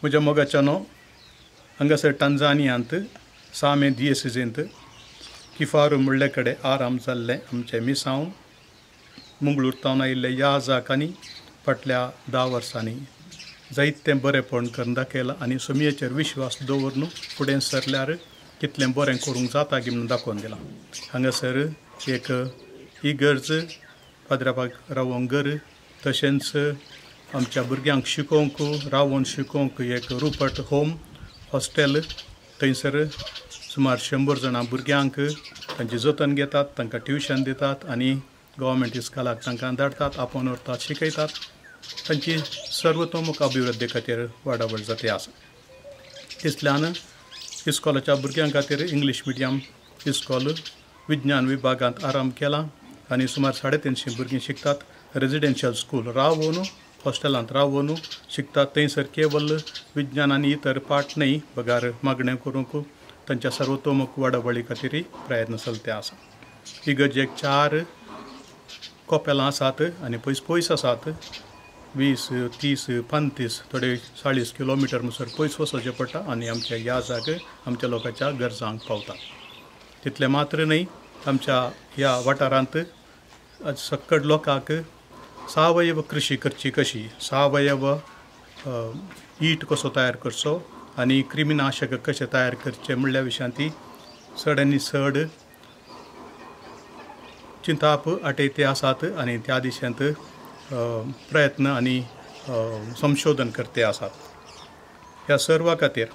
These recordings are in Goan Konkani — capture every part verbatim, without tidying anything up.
म्हज्या मोगाच्यानो, हांगासर टांझानियांत सामे दियेसिजींत किफारू म्हणले कडेन आराम जाल्लें आमचें मिसांव मंगळूर तावन आयिल्ले याजाकांनी फाटल्या धा वर्सांनी जायतें बरेंपण करून दाखयलां आनी सोमयेचेर विश्वास दवरून फुडें सरल्यार कितलें बरें करूंक जाता की म्हणून दाखोवन दिलां. हांगासर एक इगर्ज, पाद्रापाक रावोंक घर, तशेंच आमच्या भुरग्यांक शिकोवंक रावोन शिकोवंक एक रुपट होम हॉस्टेल, थंयसर सुमार शंबर जाणां भुरग्यांक तांची जतन घेतात, तांकां ट्युशन दितात आनी गव्हर्मेंट इस्कॉलाक तांकां धाडटात, आपोवन व्हरतात, शिकयतात. तांची सर्वतोमुख अभिवृद्धी खातीर वाडावळ जाती आसा. तितल्यान इस्कॉलाच्या भुरग्यां खातीर इंग्लीश मिडियम इस्कॉल विज्ञान विभागांत आरंभ केला आनी सुमार साडे तिनशीं भुरगीं शिकतात. रेजिडेन्शियल स्कूल रावोन हॉस्टेलांत रावोन शिकतात. थंयसर केवल विज्ञान आनी इतर पाठ न्हय बगार मागणें करूंक तांच्या सर्वतोमुख वाडावळी खातीर प्रयत्न चलते आसा. इगर्जेक चार कोपेलां आसात आनी पयस पयस आसात. वीस तीस पंतीस थोडे चाळीस किलोमिटर म्हणसर पयस वचचें पडटा आनी आमच्या ह्या जाग आमच्या लोकांच्या गरजांक पावता. तितलें मात्र न्हय, आमच्या ह्या वाठारांत सक्कड लोकांक सावयव कृशी करची कशी, सावयव ईट कसो तयार करचो आनी क्रिमिनाशक कशें तयार करचें म्हणल्या विशयांत ती चड आनी चड चिंताप आटयते आसात आनी त्या दिशेंत प्रयत्न आनी संशोधन करते आसात. ह्या सर्वा खातीर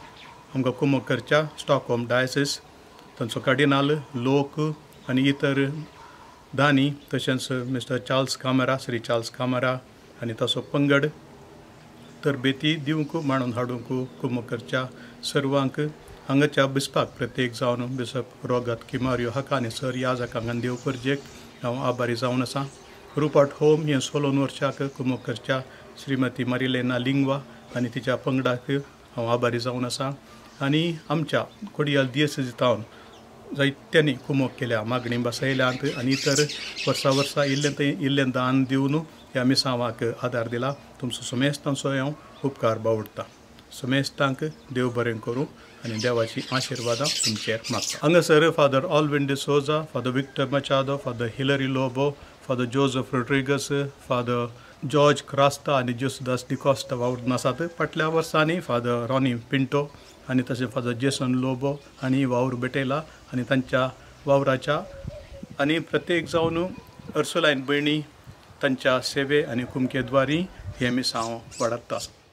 आमकां कुमक करच्या स्टॉकहोम डायसिस, तांचो कार्डिनाल लोक आनी इतर दानी, तशेंच mister Charles Camara, Shri Charles Camara आनी ताचो पंगड तरबेती दिवंक मांडून हाडूंक कुमक करच्या सर्वांक हांगाच्या बिस्पाक प्रत्येक जावन बिशप रोगत किमारियो हाका आनी सर ह्या जाकांक देव परजेक हांव आभारी जावन आसा. रुपट होम हें सोलोन वर्षाक कुमक करच्या श्रीमती मारिलेना लिंगवा आनी तिच्या पंगडाक हांव आभारी जावन आसा. आनी आमच्या कोडियाल दियेसेजींत जायत्यांनी कुमक केल्या, मागणी बसयल्यांत आनी इतर वर्सा वर्सा इल्लें थंय इल्लें दान दिवन ह्या मिसांवाक आदार दिला. तुमचो समेस्तांचो हांव उपकार बावडटा. समेस्तांक देव बरें करूं आनी देवाची आशिर्वादां तुमचेर मागता. हांगासर father Alvin D'Souza, father Victor Machado, father Hillary Lobo, father Joseph Rodrigues, father George Crasta आनी जोसदास डिकॉस्टा वावरून आसात. फाटल्या वर्सांनी फादर रॉनी पिंटो आनी तशें फादर जेसन लोबो आनी वावर भेटयला आनी तांच्या वावराच्या आनी प्रत्येक जावन अर्सुलायन भयणी तांच्या सेवे आनी कुमकेद्वारी हें मिसांव वाडत आसा.